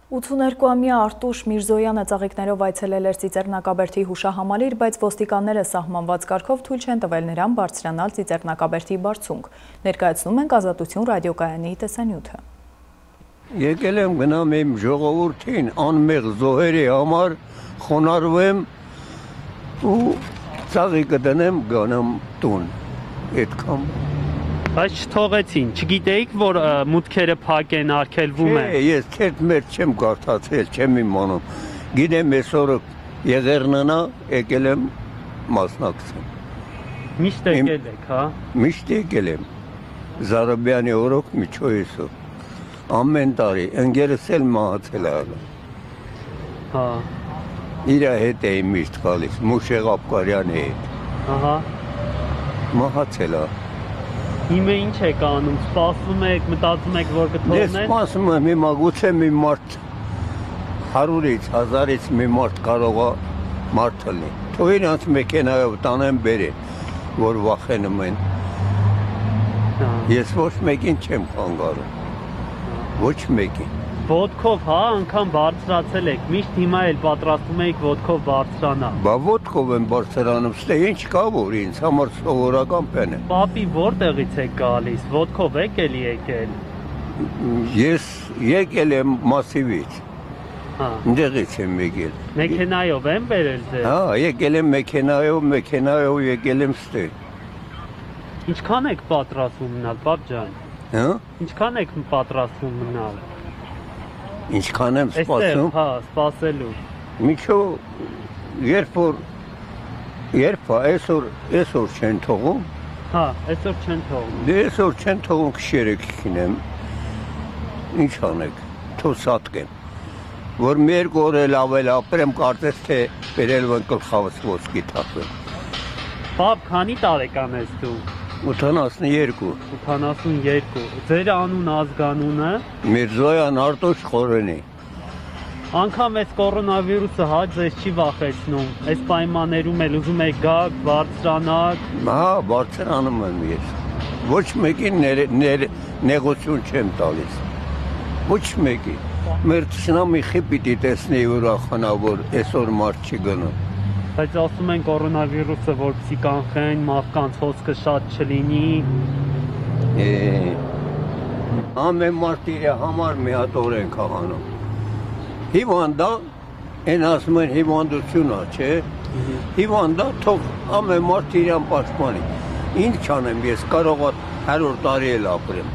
ութսուներկուամյա Արտուշ Միրզոյանը ծաղիկներով այցելել էր Ծիծեռնակաբերդի հուշահամալիր, բայց ոստիկանները սահմանված կարգով թույլ չեն տվել նրան բարձրանալ Ծիծեռնակաբերդի բարձունք։ Ներկայացնում ենք Ազատություն ռադիոկայանի տեսանյութը։ Եկել եմ գնամ իմ ժողովրդին անմեղ զոհերի համար խոնարհվեմ ու ծաղիկը դնեմ գանամ տուն։ Այդքան Բայց չթողեցին, չգիտեիք, որ մուտքերը փակ են, արգելվում են։ Չէ, ես քեզ մեր չեմ կարդացել, չեմ իմանում։ Գիտեմ այսօր Եղեռնանա եկել եմ մասնակցեմ։ Միշտ եկել եք, հա։ Միշտ եկել եմ։ Զարաբյանի օրոք միջոյեսով։ Ամեն տարի ընկերս էլ մահացել է։ Հա։ Իր հետ էի միշտ գալիս, Մուշեղ Աբկարյանի հետ։ Ահա։ Մահացել է։ Հիմա ինչ եք անում, սպասում եք, մտածում եք, որ կթողնեն։ Ես սպասում եմ, հիմա գուցե մի մարդ հարյուրից, հազարից մի մարդ կարող է մարդ լինի։ Թող իրանց մեքենայով տանեն բերեն, որ վախենում են։ Ես ոչ մեկին չեմ խանգարում։ Ոչ մեկին։ Ոտքով, հա, անգամ բարձրացել եք, միշտ հիմա էլ պատրաստում եք ոտքով բարձրանալ։ Բա ոտքով եմ բարձրանում, ստե ինչ կա որ ինձ համար սովորական բան է։ Պապի որտեղից եք գալիս, ոտքով եք էլի եկել։ Ես եկել եմ Մասիվից։ Հա։ Այնտեղից եմ եկել։ Մեքենայով եմ բերել ձեզ։ Հա, եկել եմ մեքենայով, մեքենայով եկել եմ ստե։ Ինչքան եք պատրաստվում մնալ, պապ ջան։ Հա։ Ինչքան եք պատրաստվում մնալ։ Ինչքան եմ սպասում։ Հա, սպասելու։ Միջո երբ որ երբ այսօր այսօր չեն թողում։ Հա, այսօր չեն թողում։ Դե այսօր չեն թողում քշերը կքինեմ։ Ինչ անեք, թոսատկեմ։ Որ մի երկու օր էլ ավել ապրեմ, կարծես թե բերել են գլխավս ոսկի թափել։ Պապ, քանի տարեկան ես դու։ ութանասունյոթ։ ութանասունյոթ։ Ձեր անուն ազգանունը։ Միրզոյան Արտուշ Խորենի։ Անկամ այս կորոնավիրուսը հա ձեզ չի վախեցնում։ Այս պայմաններում էլ ուզում եք գաք, բարձրանաք։ Հա, բարձրանում եմ ես։ Ոչ մեկին նեղություն չեմ տալիս։ Ոչ մեկին։ Մեր ցնամիխի պիտի տեսնի ուրախանա, որ այսօր մարդ չի գնում։ Բայց ասում են կորոնավիրուսը, որպեսզի կանխեն, մարդկանց հոսքը շատ չլինի։ Ամեն մարդ իր համար մի հատ օրենք ա անում։ Հիվանդա, այն ասում են հիվանդություն ա, չէ։ Հիվանդա, թող ամեն մարդ իրան պաշտպանի։ Ինչ անեմ ես, կարող ա հարյուր տարի էլ ապրեմ։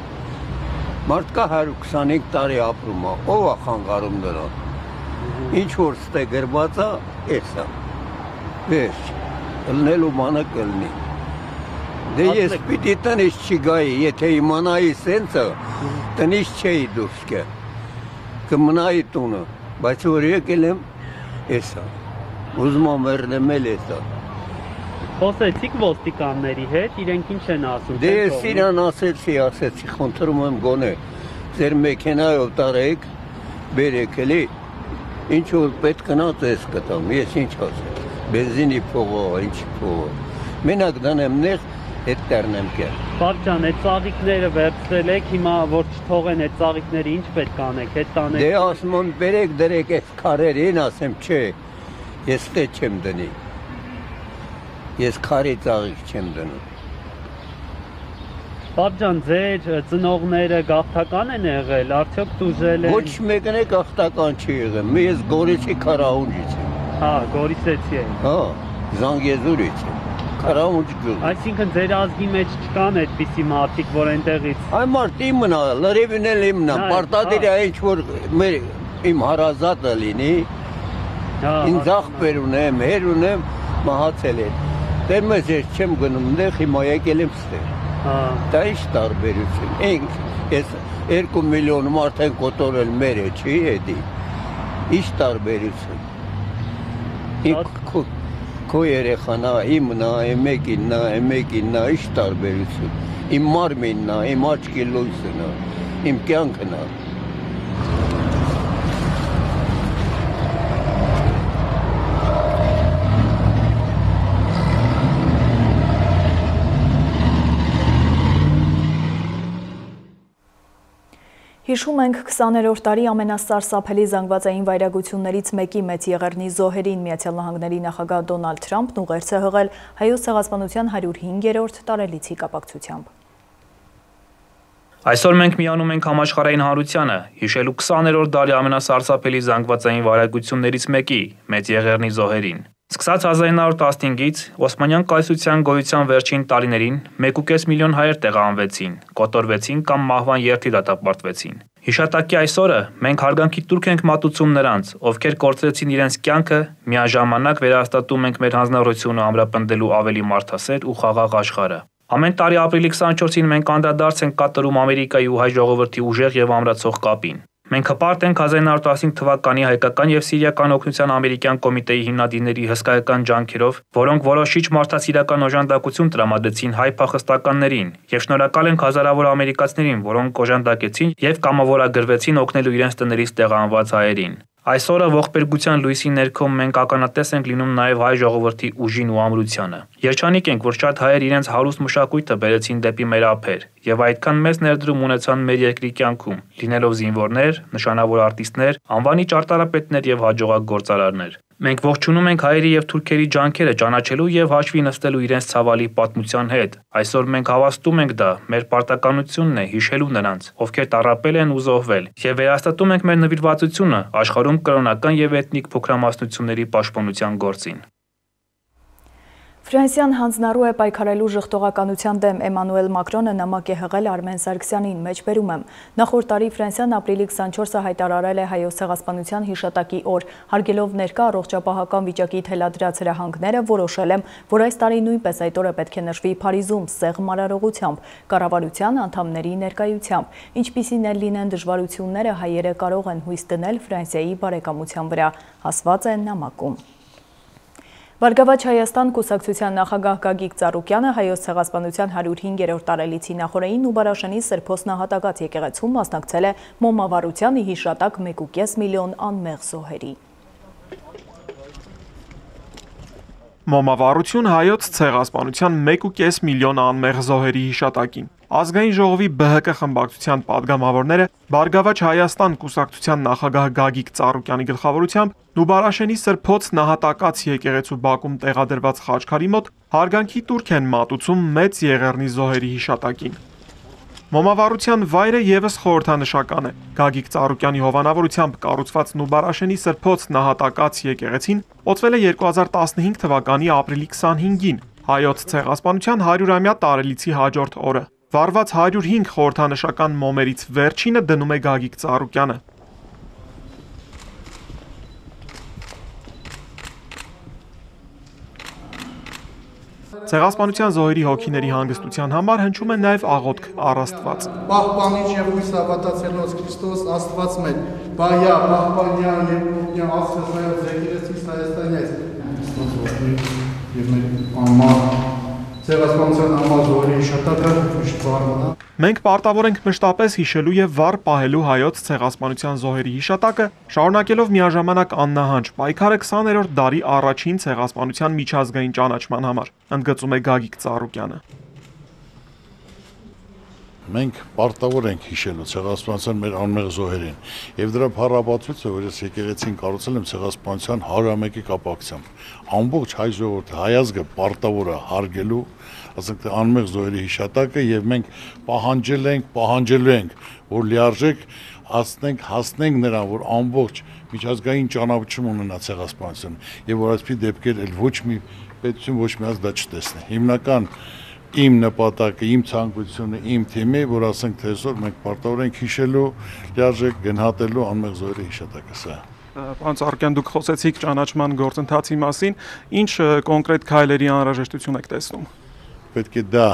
Մարդ կա հարյուր քսանհինգ տարի ապրում ա, ով ա խանգարում նրան։ Ինչ որ ստե գրված ա, էս ա։ Վերջ, ըլնելու մանը կլնի։ Դե ես պիտի տնից չգայի, եթե իմանայի սենցը, տնից չէի դուրս կե։ Կմնայի տունը, բայց որ եկել եմ, էս ա։ Ուզում ամ վերնեմ էլ էս ա։ Խոսեցիք ոստիկանների հետ, իրենք ինչ են ասում։ Դե ես իրան ասեցի, ասեցի, խնդրում եմ գոնե, ձեր մեքենայով տարեք, բերեք էլի, ինչ որ պետք գնաց ես կտամ, ես ինչ ասեմ, բենզինի փողը, ինչ փողը, մենակ դանեմ նեղ, հետ տերնեմ կեր։ Պապ ջան, այդ ծաղիկները վերցրել եք, հիմա որ չթողեն այդ ծաղիկները ինչ պետք անեք, հետ տանեք։ Դե ասում եմ, բերեք դրեք այդ քարերին, ասեմ, չէ, ես տե չեմ դնի։ Ես քարի ծաղիկ չեմ դնում։ Պապ ջան, ձեր ծնողները գաղթական են եղել, արդյոք տուժել են։ Ոչ մեկն է գաղթական չի եղել։ Ես Գորիսի Քարահունջից եմ։ Հա, Գորիսեցի եմ։ Հա, Զանգեզուրից եմ։ Քարահունջ գյուղ։ Այսինքն ձեր ազգի մեջ չկան այդպիսի մարդիկ, որ այնտեղից։ Այ մարդ իմն է, լրիվն էլ իմն է, պարտադիր է ինչ որ մեր իմ հարազատը լինի։ Ինձ աղբեր ունեմ, հեր ունեմ, մահացել են։ Դեր մեզ ես չեմ գնում այնտեղ, հիմա եկել եմ ստեղ։ Դա ինչ տարբերություն։ Ենք, ես երկու միլիոն մարդ են կոտորել մերը, չի էդի։ Ինչ տարբերություն։ Քո երեխան է, իմն է, մեկինն է, մեկինն է, ինչ տարբերություն։ Իմ մարմինն է, իմ աչքի լույսն է, իմ կյանքն է։ Հիշում ենք քսաներորդ տարի ամենասարսափելի զանգվածային վայրագություններից մեկի Մեծ Եղեռնի զոհերին Միացյալ Նահանգների նախագահ Դոնալդ Թրամփն ուղերձ է հղել հայոց ցեղասպանության հարյուր հինգերորդ տարելիցի կապակցությամբ։ Այսօր մենք միանում ենք համաշխարհային հանրությանը, հիշելու քսաներորդ տարի ամենասարսափելի զանգվածային վայրագություններից մեկի Մեծ Եղեռնի զոհերին։ Սկսած հազար ինը հարյուր տասնհինգից Օսմանյան կայսրության գոյության վերջին տարիներին մեկ ու կես միլիոն հայեր տեղահանվեցին, կոտորվեցին կամ մահվան երթի դատապարտվեցին։ Հիշատակի այս օրը մենք հարգանքի տուրք ենք մատուցում նրանց, ովքեր կորցրեցին իրենց կյանքը, միաժամանակ վերահաստատում ենք մեր հանձնառությունը ամրապնդելու ավելի մարդասեր ու խաղաղ աշխարհը։ Ամեն տարի ապրիլի քսաներորդ մենք անդրադարձ ենք կատարում Ամերիկայի ու հայ ժողովրդի ուժեղ եւ ամրացող կապին։ Մենք հպարտ ենք հազար ինը հարյուր տասնհինգ թվականի հայկական եւ սիրիական օգնության ամերիկյան կոմիտեի հիմնադիրների հսկայական ջանքերով, որոնք որոշիչ մարդասիրական օժանդակություն տրամադրեցին հայ փախստականներին, եւ շնորհակալ ենք հազարավոր ամերիկացիներին, որոնք օժանդակեցին եւ կամավորագրվեցին օգնելու իրենց տներից տեղահանված հայերին։ Այսօրը ողբերգության լույսի ներքո մենք ականատես ենք լինում նաև հայ ժողովրդի ուժին ու ամրությանը։ Երջանիկ ենք, որ շատ հայեր իրենց հարուստ մշակույթը բերեցին դեպի մեր ափեր եւ այդքան մեծ ներդրում ունեցան մեր երկրի կյանքում, լինելով զինվորներ, նշանավոր արտիստներ, անվանի ճարտարապետներ եւ հաջողակ գործարարներ։ Մենք ողջունում ենք հայերի եւ թուրքերի ջանքերը ճանաչելու եւ հաշվի նստելու իրենց ցավալի պատմության հետ։ Այսօր մենք հավաստում ենք դա, մեր պարտականությունն է հիշելու նրանց, ովքեր տառապել են ու զոհվել, եւ վերահաստատում ենք մեր նվիրվածությունը աշխարհում կրոնական եւ էթնիկ փոքրամասնությունների պաշտպանության գործին։ Ֆրանսիան հանձնառու է պայքարելու ժխտողականության դեմ Էմանուել Մակրոնը նամակ է հղել Արմեն Սարգսյանին, մեջբերում եմ։ Նախորդ տարի Ֆրանսիան ապրիլի քսանչորսը հայտարարել է հայոց ցեղասպանության հիշատակի օր, հարգելով ներկա առողջապահական վիճակի թելադրած հրահանգները, որոշել եմ, որ այս տարի նույնպես այդ օրը պետք է նշվի Փարիզում սեղմ արարողությամբ, կառավարության անդամների ներկայությամբ, ինչպիսին էլ լինեն դժվարությունները, հայերը կարող են հույս դնել Ֆրանսիայի բարեկամության վրա, ասված է նամակում։ Բարգավաճ Հայաստան կուսակցության նախագահ Գագիկ Ծառուկյանը հայոց ցեղասպանության հարյուր հինգերորդ տարելիցի նախօրեին ու Բարաշանի Սրբոց նահատակած եկեղեցում մասնակցել է մոմավառությանը հիշատակ մեկ ու կես միլիոն անմեղ զոհերի։ Մոմավառություն հայոց ցեղասպանության մեկ ու կես միլիոն անմեղ զոհերի հիշատակին։ Ազգային ժողովի Բ Հ Կ խմբակցության падգամավորները Բարգավաճ Հայաստան կուսակցության նախագահ Գագիկ Ծառուկյանի գլխավորությամբ Նուբարաշենի Սրբոց նահատակած եկեղեցու բակում տեղադրված խաչքարի մոտ հարգանքի տուրք են մատուցում Մեծ Եղեռնի զոհերի հիշատակին։ Մոմավառության վայրը եւս խորհրդանշական է։ Գագիկ Ծառուկյանի հովանավորությամբ կառուցված Նուբարաշենի Սրբոց նահատակած եկեղեցին օծվել է երկու հազար տասնհինգ թվականի ապրիլի քսանհինգին, հայոց ցեղասպանության հարյուրամյա տարելիցի հաջորդ օրը։ Վարված հարյուր հինգ խորհրդանշական մոմերից վերջինը դնում է Գագիկ Ծառուկյանը։ Ցեղասպանության զոհերի հոգիների հանգստության համար հնչում է նաև աղոթք առ Աստված։ Պահպանիչ եւ հույս հավատացելոց Քրիստոս Աստված մեր, բայա, պահպանյա եւ օգնյա Աստվածայով եկեղեցիս Հայաստանից։ Եվ մեր ամառ ցեղասպանության ամառ զոհերի հիշատակը միշտ վառվանա։ Մենք պարտավոր ենք մշտապես հիշելու եւ վառ պահելու հայոց ցեղասպանության զոհերի հիշատակը, շարունակելով միաժամանակ աննահանջ պայքարը քսաներորդ դարի առաջին ցեղասպանության միջազգային ճանաչման համար, ընդգծում է Գագիկ Ծառուկյանը։ Մենք պարտավոր ենք հիշելու ցեղասպանության մեր անմեղ զոհերին եւ դրա փառաբացույցը, որ ես եկեղեցին կառուցել եմ ցեղասպանության հարյուրամեկի կապակցությամբ, ամբողջ հայ ժողովուրդը, հայ ազգը պարտավոր է հարգելու, ասենք թե անմեղ զոհերի հիշատակը եւ մենք պահանջել ենք, պահանջելու ենք, որ լիարժեք հասնենք, հասնենք նրան, որ ամբողջ միջազգային ճանաչում ունենա ցեղասպանությունը եւ որ այսպիսի դեպքեր էլ ոչ մի պետություն, ոչ մի ազգ դա չտեսնի։ Հիմնական իմ նպատակը, իմ ցանկությունը, իմ թիմի, որ ասենք թե այսօր մենք պարտավոր ենք հիշելու, լիարժեք գնահատելու անմեղ զոհերի հիշատակը սա։ Պարոն Ծառուկյան, դուք խոսեցիք ճանաչման գործընթացի մասին, ինչ կոնկրետ քայլերի անհրաժեշտություն եք տեսնում։ Պետք է դա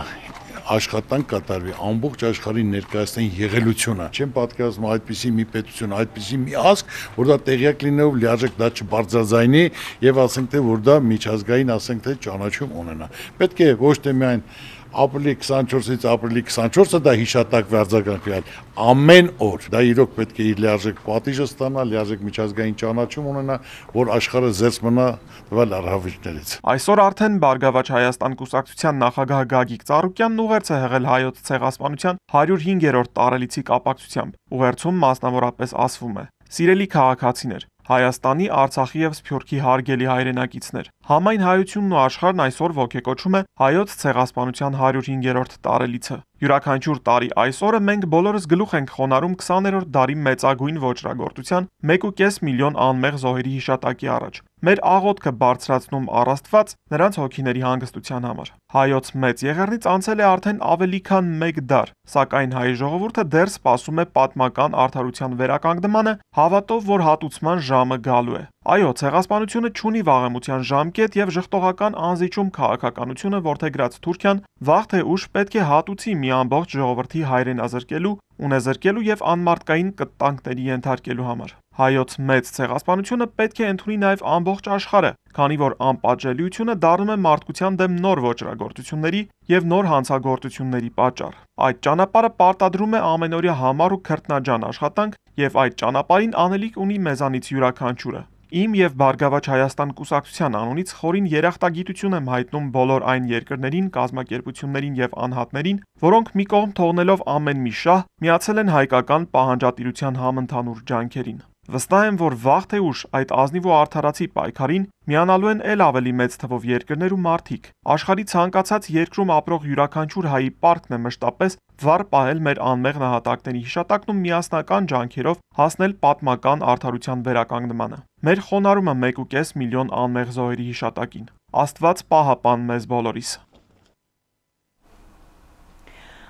աշխատանք կատարվի, ամբողջ աշխարհին ներկայացնեն եղելությունը։ Չեմ պատկերացնում այդպիսի մի պետություն, այդպիսի մի ազգ, որ դա տեղյակ լինելով լիարժեք դա չբարձրաձայնի եւ ասենք թե որ դա միջազգային ասենք թե ճանաչում ունենա։ Պետք է ոչ թե միայն ապրիլի քսանչորսից ապրիլի քսանչորսը դա հիշատակ վարձակարգվի, այլ ամեն օր դա իրոք պետք է իր լիարժեք պատիժը ստանա, լիարժեք միջազգային ճանաչում ունենա, որ աշխարհը զերծ մնա տվյալ առավիճներից։ Այսօր արդեն Բարգավաճ Հայաստան կուսակցության նախագահ Գագիկ Ծառուկյանն ուղերձ է հղել հայոց ցեղասպանության հարյուր հինգերորդ տարելիցի կապակցությամբ։ Ուղերձում մասնավորապես ասվում է. «Սիրելի քաղաքացիներ, Հայաստանի, Արցախի եւ Սփյուռքի հարգելի հայրենակիցներ, համայն հայությունն ու աշխարհն այսօր ոգեկոչում է հայոց ցեղասպանության հարյուր հինգերորդ տարելիցը։ Յուրաքանչյուր տարի այս օրը մենք բոլորս գլուխ ենք խոնարհում քսաներորդ դարի մեծագույն ոճրագործության մեկ ու կես միլիոն անմեղ զոհերի հիշատակի առաջ։ Մեր աղոթքը բարձրացնում առ Աստված նրանց հոգիների հանգստության համար։ Հայոց մեծ եղեռնից անցել է արդեն ավելի քան մեկ դար, սակայն հայ ժողովուրդը դեռ սպասում է պատմական արդարության վերականգնմանը, հավատով, որ հատուցման ժամը գալու է։ Այո, ցեղասպանությունը չունի վաղեմության ժամկետ եւ ժխտողական անզիջում քաղաքականությունը որդեգրած Թուրքիան վաղ թե ուշ պետք է հատուցի մի ամբողջ ժողովրդի հայրենազրկելու, ունեզրկելու եւ անմարդկային կտանքների ենթարկելու համար։ Հայոց մեծ ցեղասպանությունը պետք է ընդունի նաեւ ամբողջ աշխարհը, քանի որ անպատժելիությունը դառնում է մարդկության դեմ նոր ոճրագործությունների եւ նոր հանցագործությունների պատճառ։ Այդ ճանապարհը պարտադրում է ամենօրյա համառ ու քրտնաջան աշխատանք եւ այդ ճանապարհին անելիք ունի մեզանից յուրաքանչյուրը։ Իմ եւ Բարգավաճ Հայաստան կուսակցության անունից խորին երախտագիտություն եմ հայտնում բոլոր այն երկրներին, կազմակերպություններին եւ անհատներին, որոնք մի կողմ թողնելով ամեն մի շահ, միացել են հայկական պահանջատիրության համընդհանուր ջանքերին։ Վստահ եմ, որ վաղ թե ուշ այդ ազնիվ ու արդարացի պայքարին միանալու են ել ավելի մեծ թվով երկրներ ու մարդիկ։ Աշխարհի ցանկացած երկրում ապրող յուրաքանչյուր հայի պարտքն է մշտապես վառ պահել մեր անմեղ նահատակների հիշատակն ու միասնական ջանքերով հասնել պատմական արդարության վերականգնմանը։ Մեր խոնարհումը մեկ ու կես միլիոն անմեղ զոհերի հիշատակին։ Աստված պահապան մեզ բոլորիս։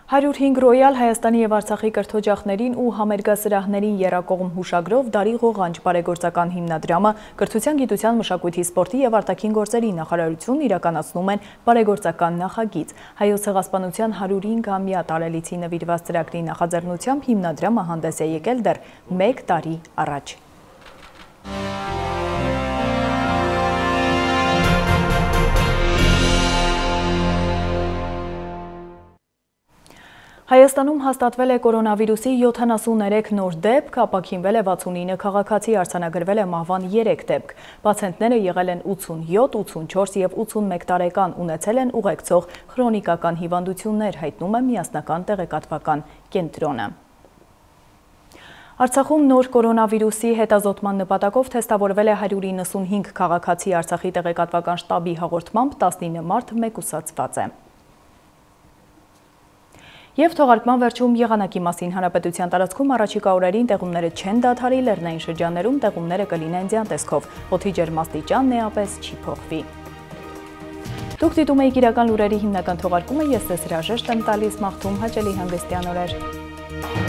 հարյուր հինգ Ռոյալ Հայաստանի եւ Արցախի կրթօջախներին ու համերգասրահներին եռակողմ հուշագրով Դարի ղողանջ բարեգործական հիմնադրամը կրթության, գիտության, մշակույթի, սպորտի եւ արտաքին գործերի նախարարությունն իրականացնում են բարեգործական նախագիծ։ Հայոց ցեղասպանության հարյուր հինգամյա տարելիցի նվիրված ծրագրի նախաձեռնությամբ հիմնադրամը հանդես է եկել դեռ մեկ տարի առաջ։ Հայաստանում հաստատվել է կորոնավիրուսի յոթանասուններեք նոր դեպք, ապաքինվել է վաթսունինը քաղաքացի, արձանագրվել է մահվան երեք դեպք։ Պացիենտները եղել են ութսունյոթ, ութսունչորս եւ ութսունմեկ տարեկան, ունեցել են ուղեկցող քրոնիկական հիվանդություններ, հայտնում է միասնական տեղեկատվական կենտրոնը։ Արցախում նոր կորոնավիրուսի հետազոտման նպատակով թեստավորվել է հարյուր իննսունհինգ քաղաքացի, Արցախի տեղեկատվական շտաբի հաղորդմամբ տասնինը մարդ մեկուսացված է։ Եվ թողարկման վերջում եղանակի մասին հանրապետության տարածքում առաջիկա օրերին տեղումները չեն դադարի, լեռնային շրջաններում տեղումները կլինեն ձյան տեսքով, օդի ջերմաստիճանն էապես չի փոխվի։ Դուք դիտում եք իրական լուրերի հիմնական թողարկումը, ես ձեզ հրաժեշտ եմ տալիս, մաղթում հաճելի հանգստյան օրեր։